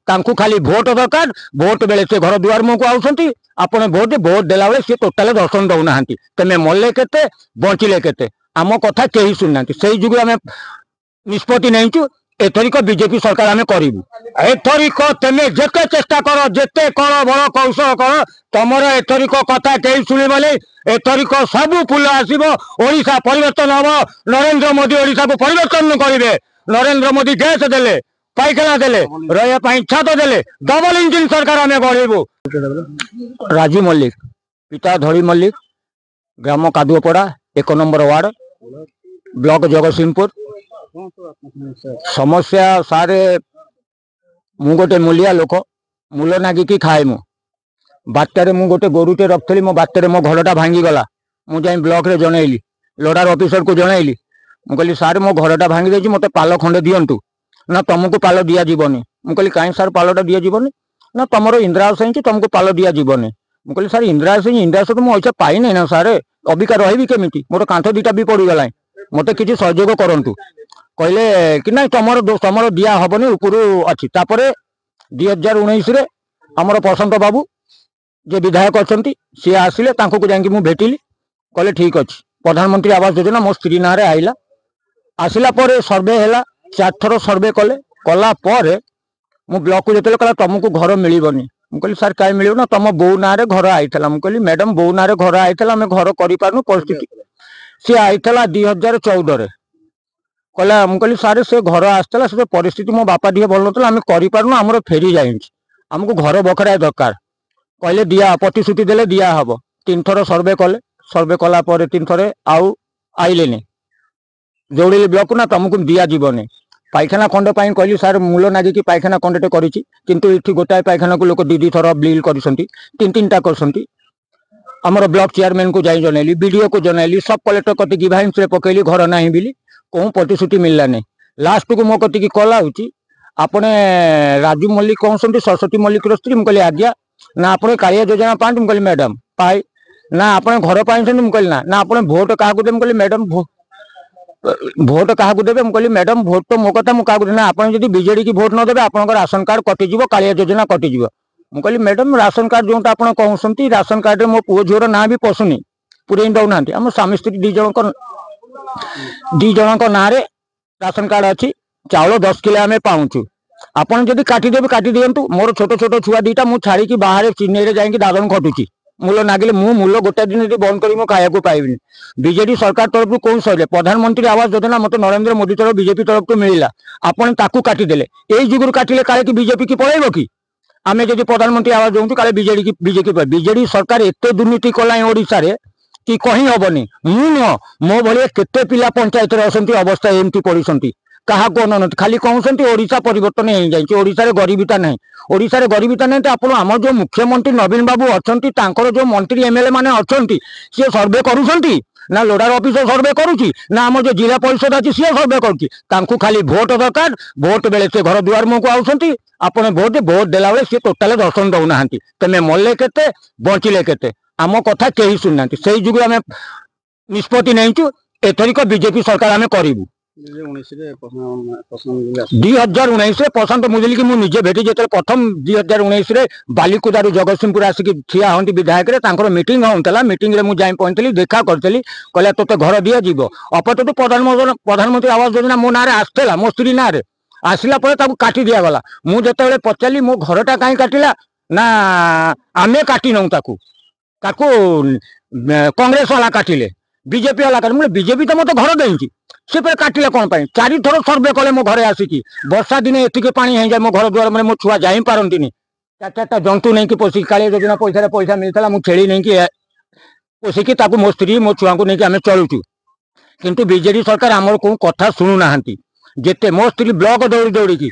ତାଙ୍କୁ ଖାଲି ଭୋଟ ଦରକାର। ଭୋଟ ବେଳେ ସେ ଘର ଦୁଆର ମୁହଁକୁ ଆଉଛନ୍ତି। ଆପଣ ଭୋଟ ଭୋଟ ଦେଲା ବେଳେ ସିଏ ଟୋଟାଲ ଦର୍ଶନ ଦଉନାହାନ୍ତି। ତମେ ମଲେ କେତେ, ବଞ୍ଚିଲେ କେତେ, ଆମ କଥା କେହି ଶୁଣୁନାହାନ୍ତି। ସେଇ ଯୋଗୁଁ ଆମେ ନିଷ୍ପତ୍ତି ନେଇଛୁ, ଏଥରିକ ବିଜେପି ସରକାର ଆମେ କରିବୁ। ଏଥରିକ ତମେ ଯେତେ ଚେଷ୍ଟା କର, ଯେତେ କଳ ବଳ କୌଶଳ କର, ତମର ଏଥରିକ କଥା କେହି ଶୁଣିବନି। ଏଥରିକ ସବୁ ଫୁଲ ଆସିବ, ଓଡ଼ିଶା ପରିବର୍ତ୍ତନ ହବ। ନରେନ୍ଦ୍ର ମୋଦି ଓଡ଼ିଶାକୁ ପରିବର୍ତ୍ତନ କରିବେ। ନରେନ୍ଦ୍ର ମୋଦି ଗ୍ୟାସ ଦେଲେ, ପାଇଖାନା ଦେଲେ, ରହିବା ପାଇଁ ଛାତ ଦେଲେ। ଡବଲ ଇଞ୍ଜିନ ସରକାର ଆମେ ଗଢ଼ିବୁ। ରାଜୁ ମଲ୍ଲିକ, ପିତା ଧଳି ମଲ୍ଲିକ, ଗ୍ରାମ କାଦୁଅପଡ଼ା, 1 ନମ୍ବର ୱାର୍ଡ, ବ୍ଲକ ଜଗତସିଂହପୁର। ସମସ୍ୟା ସାରେ, ମୁଁ ଗୋଟେ ମୂଲିଆ ଲୋକ, ମୂଲ ନାଗିକି ଖାଏ। ମୁଁ ବାତ୍ୟାରେ ମୁଁ ଗୋଟେ ଗୋରୁଟେ ରଖିଥିଲି। ମୋ ବାତ୍ୟାରେ ମୋ ଘରଟା ଭାଙ୍ଗିଗଲା। ମୁଁ ଯାଇ ବ୍ଲକରେ ଜଣେଇଲି, ଲୋଡାର ଅଫିସରକୁ ଜଣେଇଲି। ମୁଁ କହିଲି, ସାର୍, ମୋ ଘରଟା ଭାଙ୍ଗି ଯାଇଛି, ମୋତେ ପାଲ ଖଣ୍ଡେ ଦିଅନ୍ତୁ। ନା, ତମକୁ ପାଲ ଦିଆଯିବନି। ମୁଁ କହିଲି, କାହିଁ ସାର୍ ପାଲଟା ଦିଆଯିବନି? ନା, ତମର ଇନ୍ଦିରା ଆବାସ ହେଇଛି, ତମକୁ ପାଲ ଦିଆଯିବନି। ମୁଁ କହିଲି, ସାର୍, ଇନ୍ଦିରା ଆବାସ ହେଇଛି, ଇନ୍ଦିରା ଆବାସ ତ ମୁଁ ପଇସା ପାଇନି ନା ସାର୍, ଅବିକା ରହିବି କେମିତି? ମୋର କାନ୍ଥ 2ଟା ବି ପଡ଼ିଗଲାଣି, ମୋତେ କିଛି ସହଯୋଗ କରନ୍ତୁ। କହିଲେ କି ନାଇଁ, ତମର ଦିଆ ହବନି, ଉପରୁ ଅଛି। ତାପରେ 2019ରେ ଆମର ପ୍ରଶାନ୍ତ ବାବୁ ଯେ ବିଧାୟକ ଅଛନ୍ତି, ସିଏ ଆସିଲେ। ତାଙ୍କୁ ଯାଇକି ମୁଁ ଭେଟିଲି। କହିଲେ ଠିକ ଅଛି। ପ୍ରଧାନମନ୍ତ୍ରୀ ଆବାସ ଯୋଜନା ମୋ ସ୍ତ୍ରୀ ନାଁରେ ଆଇଲା। ଆସିଲା ପରେ ସର୍ଭେ ହେଲା, 4ଥର ସର୍ଭେ କଲେ। କଲା ପରେ ମୁଁ ବ୍ଲକକୁ ଯେତେବେଳେ କହିଲା, ତମକୁ ଘର ମିଳିବନି। ମୁଁ କହିଲି, ସାର୍, କାହିଁ ମିଳିବ? ନା, ତମ ବୋଉ ନାଁରେ ଘର ଆଇଥିଲା। ମୁଁ କହିଲି, ମ୍ୟାଡମ, ବୋଉ ନାଁରେ ଘର ଆଇଥିଲା, ଆମେ ଘର କରିପାରୁନୁ, ପରିସ୍ଥିତି। ସିଏ ଆଇଥିଲା 2014ରେ। କହିଲା, ମୁଁ କହିଲି, ସାର୍, ସେ ଘର ଆସିଥିଲା, ସେ ପରିସ୍ଥିତି, ମୋ ବାପା ଟିକେ ଭଲ ନଥିଲା, ଆମେ କରିପାରୁନୁ, ଆମର ଫେରି ଯାଇଛି, ଆମକୁ ଘର ବଖରାଏ ଦରକାର। କହିଲେ ଦିଆ, ପ୍ରତିଶ୍ରୁତି ଦେଲେ ଦିଆ ହବ। 3ଥର ସର୍ଭେ କଲେ। ସର୍ଭେ କଲା ପରେ 3ଥରେ ଆଉ ଆଇଲେନି। ଦୌଡ଼ିଲି ବ୍ଲକକୁ। ନା, ତମକୁ ଦିଆଯିବନି। ପାଇଖାନା ଖଣ୍ଡ ପାଇଁ କହିଲି, ସାର୍, ମୂଲ ନାଗିକି ପାଇଖାନା ଖଣ୍ଡଟେ କରିଛି, କିନ୍ତୁ ଏଠି ଗୋଟାଏ ପାଇଖାନାକୁ ଲୋକ 2 2 ଥର ବିଲ୍ କରିଛନ୍ତି, 3 3ଟା କରିଛନ୍ତି। ଆମର ବ୍ଲକ ଚେୟାରମ୍ୟାନକୁ ଯାଇ ଜଣେଇଲି, ବିଡିଓକୁ ଜଣେଇଲି, ସବ୍ କଲେକ୍ଟର କତିକି ଗ୍ରିଭାନ୍ସରେ ପକେଇଲି ଘର ନାହିଁ ବୋଲି। କେଉଁ ପ୍ରତିଶ୍ରୁତି ମିଳିଲାନି। ଲାଷ୍ଟକୁ ମୋ କତିକି କଲ୍ ଆଉଛି, ଆପଣ ରାଜୁ ମଲ୍ଲିକ କହୁଛନ୍ତି, ସରସ୍ୱତୀ ମଲ୍ଲିକର ସ୍ତ୍ରୀ? ମୁଁ କହିଲି, ଆଜ୍ଞା। ନା, ଆପଣ କାଳିଆ ଯୋଜନା ପାଆନ୍ତି? ମୁଁ କହିଲି, ମ୍ୟାଡାମ, ପାଇ। ନା, ଆପଣ ଘର ପାଇଛନ୍ତି? ମୁଁ କହିଲି, ନା। ନା, ଆପଣ ଭୋଟ କାହାକୁ ଦେବେ? ମୁଁ କହିଲି, ମ୍ୟାଡାମ, ଭୋଟ କାହାକୁ ଦେବେ? ମୁଁ କହିଲି, ମ୍ୟାଡାମ, ଭୋଟ ତ ମୋ କଥା, ମୁଁ କାହାକୁ? ନା, ଆପଣ ଯଦି ବିଜେଡି କି ଭୋଟ ନ ଦେବେ, ଆପଣଙ୍କର ରାସନ କାର୍ଡ କଟିଯିବ, କାଳିଆ ଯୋଜନା କଟିଯିବ। ମୁଁ କହିଲି, ମ୍ୟାଡାମ, ରାସନ କାର୍ଡ ଯୋଉଟା ଆପଣ କହୁଛନ୍ତି, ରାସନ କାର୍ଡରେ ମୋ ପୁଅ ଝିଅର ନାଁ ବି ପଶୁନି, ପୁରେଇ ଦଉନାହାନ୍ତି। ଆମ ସ୍ୱାମୀ ସ୍ତ୍ରୀ 2 ଜଣଙ୍କ ନାଁରେ ରାସନ କାର୍ଡ ଅଛି, ଚାଉଳ 10 କିଲୋ ଆମେ ପାଉଛୁ। ଆପଣ ଯଦି କାଟିଦେବେ, କାଟି ଦିଅନ୍ତୁ। ମୋର ଛୋଟ ଛୋଟ ଛୁଆ 2ଟା, ମୁଁ ଛାଡ଼ିକି ବାହାରେ ଚେନ୍ନାଇରେ ଯାଇକି ଦାଦନ ଖଟୁଛି। ମୂଲ ନାଗିଲେ, ମୁଁ ମୂଲ ଗୋଟେ ଦିନ ଯଦି ବନ୍ଦ କରି ମୁଁ ଖାଇବାକୁ ପାଇବିନି। ବିଜେଡି ସରକାର ତରଫରୁ କୋଉ ସରିଲେ ପ୍ରଧାନମନ୍ତ୍ରୀ ଆବାସ ଯୋଜନା ମତେ ନରେନ୍ଦ୍ର ମୋଦି ତରଫ, ବିଜେପି ତରଫରୁ ମିଳିଲା, ଆପଣ ତାକୁ କାଟିଦେଲେ। ଏଇ ଯୁଗରୁ କାଟିଲେ କାଳେ କି ବିଜେପି କି ପଳେଇବ କି? ଆମେ ଯଦି ପ୍ରଧାନମନ୍ତ୍ରୀ ଆବାସ ଦଉଛୁ, କାଳେ ବିଜେଡି କି ବିଜେପି। ବିଜେଡି ସରକାର ଏତେ ଦୁର୍ନୀତି କଲାଣି ଓଡ଼ିଶାରେ କି କହି ହବନି। ମୁଁ ନୁହଁ, ମୋ ଭଳିଆ କେତେ ପିଲା ପଞ୍ଚାୟତରେ ଅଛନ୍ତି, ଅବସ୍ଥା ଏମିତି ପଡିଛନ୍ତି, କାହାକୁ ଅନଉନାହାନ୍ତି। ଖାଲି କହୁଛନ୍ତି ଓଡ଼ିଶା ପରିବର୍ତ୍ତନ ହେଇଯାଇଛି, ଓଡ଼ିଶାରେ ଗରିବିତା ନାହିଁ। ଓଡ଼ିଶାରେ ଗରିବିତା ନାହିଁ ତ ଆପଣ ଆମର ଯୋଉ ମୁଖ୍ୟମନ୍ତ୍ରୀ ନବୀନ ବାବୁ ଅଛନ୍ତି, ତାଙ୍କର ଯୋଉ ମନ୍ତ୍ରୀ ଏମଏଲଏ ମାନେ ଅଛନ୍ତି, ସିଏ ସର୍ଭେ କରୁଛନ୍ତି ନା ଲୋଡାର ଅଫିସର ସର୍ଭେ କରୁଛି, ନା ଆମର ଯୋଉ ଜିଲ୍ଲା ପରିଷଦ ଅଛି ସିଏ ସର୍ଭେ କରୁଛି? ତାଙ୍କୁ ଖାଲି ଭୋଟ ଦରକାର। ଭୋଟ ବେଳେ ସେ ଘର ଦୁଆର ମୁହଁକୁ ଆଉଛନ୍ତି। ଆପଣ ଭୋଟ ଭୋଟ ଦେଲା ବେଳେ ସିଏ ଟୋଟାଲ ଦର୍ଶନ ଦଉନାହାନ୍ତି। ତମେ ମଲେ କେତେ, ବଞ୍ଚିଲେ କେତେ, ଆମ କଥା କେହି ଶୁଣୁନାହାନ୍ତି। ସେଇ ଯୋଗୁଁ ଆମେ ନିଷ୍ପତ୍ତି ନେଇଛୁ, ଏଥରିକ ବିଜେପି ସରକାର ଆମେ କରିବୁ। 2019ରେ? 2019ରେ ପ୍ରଶାନ୍ତ ମୁଦୁଲିକି ମୁଁ ନିଜେ ଭେଟି। ଯେତେବେଳେ ପ୍ରଥମ 2019ରେ ବାଲିକୁଦାରୁ ଜଗତସିଂହପୁର ଆସିକି ଠିଆ ହୁଅନ୍ତି ବିଧାୟକରେ, ତାଙ୍କର ମିଟିଂ ହଉଥିଲା। ମିଟିଂରେ ମୁଁ ଯାଇ ପହଞ୍ଚିଲି, ଦେଖା କରିଥିଲି। କହିଲା, ତୋତେ ଘର ଦିଆଯିବ। ଅପତତ ପ୍ରଧାନମନ୍ତ୍ରୀ ଆବାସ ଯୋଜନା ମୋ ନାଁରେ ଆସିଥିଲା, ମୋ ସ୍ତ୍ରୀ ନାଁରେ ଆସିଲା ପରେ ତାକୁ କାଟି ଦିଆଗଲା। ମୁଁ ଯେତେବେଳେ ପଚାରିଲି, ମୋ ଘରଟା କାହିଁ କାଟିଲା? ନା, ଆମେ କାଟି ନଉ, ତାକୁ କଂଗ୍ରେସ ବାଲା କାଟିଲେ, ବିଜେପି ବାଲା କାଟିଲେ। ମୁଁ, ବିଜେପି ତ ମତେ ଘର ଦେଇଛି, ସେ ଫେରେ କାଟିଲେ କ'ଣ ପାଇଁ? 4ଥର ସର୍ଭେ କଲେ ମୋ ଘରେ ଆସିକି। ବର୍ଷା ଦିନେ ଏତିକି ପାଣି ହେଇଯାଏ ମୋ ଘର ଦୁଆର, ମାନେ ମୋ ଛୁଆ ଯାଇପାରନ୍ତିନି। 4 4ଟା ଜନ୍ତୁ ନେଇକି ପୋଷିକି, କାଳିଆ ଯୋଜନା ପଇସାରେ ପଇସା ମିଳିଥିଲା, ମୁଁ ଛେଳି ନେଇକି ପୋଷିକି ତାକୁ ମୋ ସ୍ତ୍ରୀ ମୋ ଛୁଆଙ୍କୁ ନେଇକି ଆମେ ଚଳୁଛୁ। କିନ୍ତୁ ବିଜେଡି ସରକାର ଆମର କୋଉ କଥା ଶୁଣୁନାହାନ୍ତି। ଯେତେ ମୋ ସ୍ତ୍ରୀ ବ୍ଲକ ଦୌଡ଼ି ଦୌଡ଼ିକି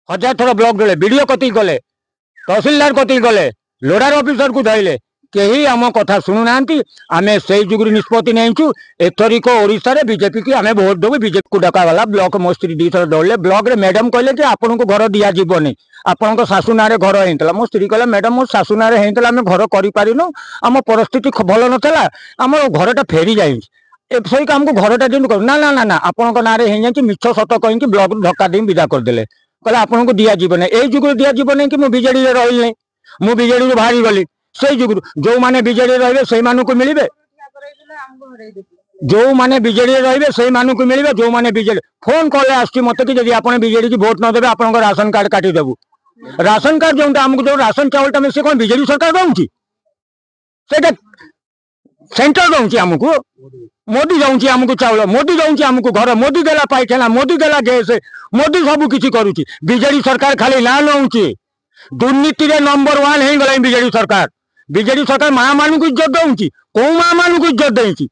1000 ଥର ବ୍ଲକ ଦୌड़େ, ବିଡିଓ କତିକି ଗଲେ, ତହସିଲଦାର କତିକି ଗଲେ, ଲୋଡାର ଅଫିସରକୁ ଧଇଲେ, କେହି ଆମ କଥା ଶୁଣୁନାହାନ୍ତି। ଆମେ ସେଇ ଯୁଗରୁ ନିଷ୍ପତ୍ତି ନେଇଛୁ, ଏଥରିକ ଓଡ଼ିଶାରେ ବିଜେପି କି ଆମେ ଭୋଟ ଦେବୁ। ବିଜେପିକୁ ଡକାଗଲା ବ୍ଲକ। ମୋ ସ୍ତ୍ରୀ 2ଥର ଦୌଡ଼ିଲେ। ବ୍ଲକରେ ମ୍ୟାଡାମ କହିଲେ ଯେ ଆପଣଙ୍କୁ ଘର ଦିଆଯିବନି, ଆପଣଙ୍କ ଶାଶୁ ନାଁରେ ଘର ହେଇଥିଲା। ମୋ ସ୍ତ୍ରୀ କହିଲା, ମ୍ୟାଡାମ, ମୋ ଶାଶୁ ନାଁରେ ହେଇଥିଲା, ଆମେ ଘର କରିପାରିନୁ, ଆମ ପରିସ୍ଥିତି ଭଲ ନଥିଲା, ଆମର ଘରଟା ଫେରି ଯାଇଛି, ଏପରିକି ଆମକୁ ଘରଟା ଦିଅନ୍ତୁ। କରୁ ନା, ନା, ନା, ନା, ଆପଣଙ୍କ ନାଁରେ ହେଇଯାଇଛି। ମିଛ ସତ କହିକି ବ୍ଲକରୁ ଧକ୍କା ଦେଇ ବିଦା କରିଦେଲେ। କହିଲେ ଆପଣଙ୍କୁ ଦିଆଯିବ ନାହିଁ। ଏଇ ଯୁଗରୁ ଦିଆଯିବ ନାହିଁ କି ମୁଁ ବିଜେଡିରେ ରହିଲି ନାହିଁ, ମୁଁ ବିଜେଡିରୁ ବାହାରି ଗଲି। ସେଇ ଯୁଗରୁ ଯୋଉମାନେ ବିଜେଡି ରହିବେ ସେଇମାନଙ୍କୁ ମିଳିବେ, ଯୋଉମାନେ ବିଜେଡିରେ ରହିବେ ସେଇମାନଙ୍କୁ ମିଳିବେ। ଯୋଉମାନେ ବିଜେଡି ଫୋନ କଲେ ଆସୁଛି ମତେ କି ଯଦି ଆପଣ ବିଜେଡି କି ଭୋଟ ନ ଦେବେ ଆପଣଙ୍କ ରାସନ କାର୍ଡ କାଟିଦେବୁ। ରାସନ କାର୍ଡ ଯୋଉଟା ଆମକୁ ଯୋଉ ରାସନ ଚାଉଳଟା ମିଳେ, ସେ କଣ ବିଜେଡି ସରକାର ଦଉଛି? ସେଇଟା ସେଣ୍ଟର ଦଉଛି ଆମକୁ, ମୋଦି ଦଉଛି ଆମକୁ ଚାଉଳ, ମୋଦି ଦଉଛି ଆମକୁ ଘର, ମୋଦି ଦେଲା ପାଇଖାନା, ମୋଦି ଦେଲା ଗ୍ୟାସ, ମୋଦି ସବୁ କିଛି କରୁଛି। ବିଜେଡି ସରକାର ଖାଲି ନାଁ ନଉଛି। ଦୁର୍ନୀତିରେ ନମ୍ବର 1 ହେଇଗଲାଣି ବିଜେଡି ସରକାର। ବିଜେଡି ସରକାର ମା ମାନଙ୍କୁ ଇଜ୍ଜତ ଦଉଛି? କୋଉ ମା ମାନଙ୍କୁ ଇଜ୍ଜତ ଦେଇଛି?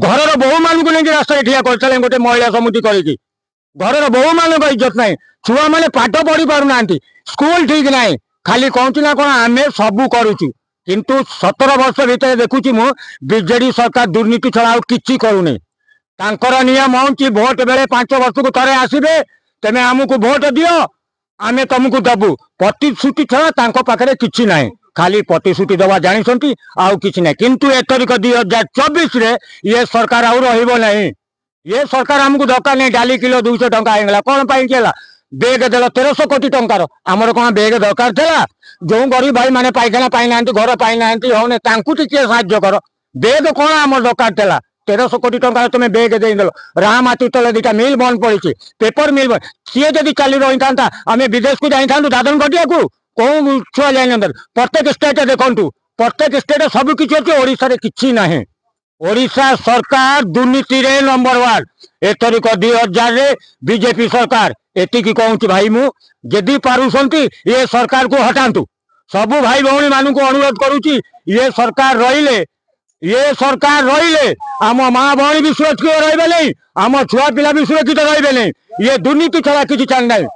ଘରର ବୋହୂ ମାନଙ୍କୁ ନେଇକି ରାସ୍ତାରେ ଠିଆ କରିସାରିଲେଣି ଗୋଟେ ମହିଳା ସମିତି କରିକି। ଘରର ବୋହୂ ମାନଙ୍କ ଇଜ୍ଜତ ନାହିଁ, ଛୁଆମାନେ ପାଠ ପଢି ପାରୁନାହାନ୍ତି, ସ୍କୁଲ ଠିକ ନାହିଁ। ଖାଲି କହୁଛି ନା କଣ ଆମେ ସବୁ କରୁଛୁ, କିନ୍ତୁ 17 ବର୍ଷ ଭିତରେ ଦେଖୁଛି ମୁଁ ବିଜେଡି ସରକାର ଦୁର୍ନୀତି ଛଡା ଆଉ କିଛି କରୁନି। ତାଙ୍କର ନିୟମ ହଉଛି ଭୋଟ ବେଳେ 5 ବର୍ଷକୁ ଥରେ ଆସିବେ, ତମେ ଆମକୁ ଭୋଟ ଦିଅ ଆମେ ତମକୁ ଦବୁ। ପ୍ରତିଶ୍ରୁତି ଛଡା ତାଙ୍କ ପାଖରେ କିଛି ନାହିଁ, ଖାଲି ପ୍ରତିଶ୍ରୁତି ଦେବା ଜାଣିଛନ୍ତି, ଆଉ କିଛି ନାହିଁ। କିନ୍ତୁ ଏଥରିକ 2024ରେ ଇଏ ସରକାର ଆଉ ରହିବ ନାହିଁ। ଇଏ ସରକାର ଆମକୁ ଦରକାର ନାହିଁ। ଡାଲି କିଲୋ 200 ଟଙ୍କା ହେଇଗଲା, କଣ ପାଇଁ ହେଲା? ବେଗ ଦେଲ 1300 କୋଟି ଟଙ୍କାର, ଆମର କଣ ବେଗ ଦରକାର ଥିଲା? ଯୋଉ ଗରିବ ଭାଇ ମାନେ ପାଇଖାନା ପାଇନାହାନ୍ତି, ଘର ପାଇନାହାନ୍ତି, ହଉନି, ତାଙ୍କୁ ଟିକେ ସାହାଯ୍ୟ କର। ବେଗ କଣ ଆମର ଦରକାର ଥିଲା? 1300 କୋଟି ଟଙ୍କାର ତମେ ବେଗ ଦେଇଦେଲ। ରାହାମାଟି ତଳେ 2ଟା ମିଲ୍ ବନ୍ଦ ପଡିଛି, ପେପର ମିଲ୍, ସିଏ ଯଦି ଚାଲି ରହିଥାନ୍ତା ଆମେ ବିଦେଶକୁ ଯାଇଥାନ୍ତୁ ଦାଦନ ଖଟିବାକୁ? କୋଉ ଛୁଆ ଯାଇନଥାନ୍ତି? ପ୍ରତ୍ୟେକ ଷ୍ଟେଟ୍ ଦେଖନ୍ତୁ, ପ୍ରତ୍ୟେକ ଷ୍ଟେଟ୍ ସବୁ କିଛି ଅଛି, ଓଡ଼ିଶାରେ କିଛି ନାହିଁ। ଓଡ଼ିଶା ସରକାର ଦୁର୍ନୀତିରେ ନମ୍ବର 1। ଏଥରିକ 2000ରେ ବିଜେପି ସରକାର। ଏତିକି କହୁଛି ଭାଇ ମୁଁ, ଯଦି ପାରୁଛନ୍ତି ଏ ସରକାରକୁ ହଟାନ୍ତୁ। ସବୁ ଭାଇ ଭଉଣୀ ମାନଙ୍କୁ ଅନୁରୋଧ କରୁଛି, ଇଏ ସରକାର ରହିଲେ, ଇଏ ସରକାର ରହିଲେ ଆମ ମା ଭଉଣୀ ବି ସୁରକ୍ଷିତ ରହିବେ ନାହିଁ, ଆମ ଛୁଆ ପିଲା ବି ସୁରକ୍ଷିତ ରହିବେ ନାହିଁ। ଇଏ ଦୁର୍ନୀତି ଛଡା କିଛି ଚାଲି ନାହିଁ।